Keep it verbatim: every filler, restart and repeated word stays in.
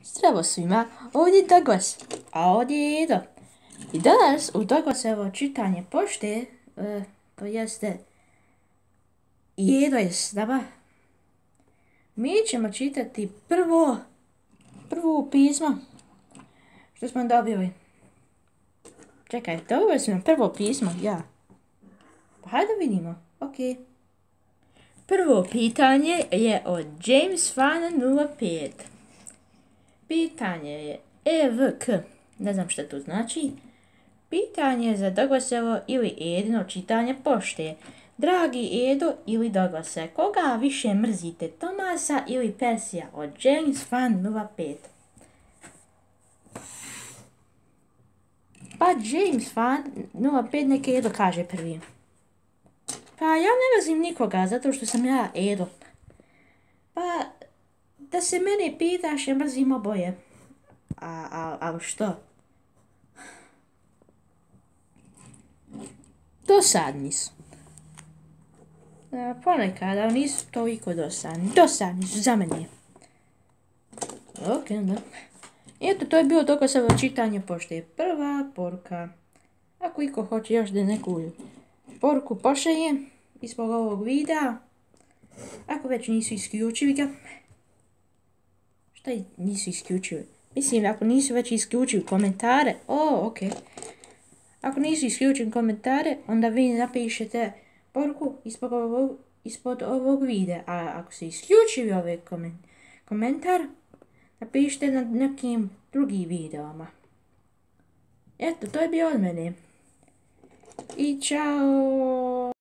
Zdravo svima, ovdje je Douglas, a ovdje je Edo. I danas u Douglasovo čitanje pošte, e, to jeste, i Edo je s nama. Mi ćemo čitati prvo, prvo pismo što smo dobili. Čekaj, dobili smo prvo pismo, ja. Pa hajde vidimo, ok. Prvo pitanje je od James Fan nula pet. Pitanje je E V K, ne znam što to znači. Pitanje je za Douglasovo ili Edino čitanje pošte. Dragi Edo ili Douglase, koga više mrzite, Tomasa ili Persija? Od James Fan nula pet. Pa James Fan nula pet neke Edo kaže prvi. Pa ja ne mrzim nikoga zato što sam ja Edo. Pa da se mene pitaš, ja mrzim oboje. A, a, a što? Dosadni su. E, ponekad, ali nisu toliko dosadni. Dosadni su za mene. Ok, da. Eto, to je bilo Douglasovo čitanje pošte. Prva poruka. Ako iko hoće još da neku poruku pošalje ispod ovog videa, ako već nisu isključili ga. Šta nisu isključili? Mislim, ako nisu već isključili komentare, o, ok. Ako nisu isključili komentare, onda vi napišete poruku ispod ovog, ispod ovog videa. A ako se isključili ovaj komentar, napišite na nekim drugim videoma. Eto, to je bilo od mene. I čao!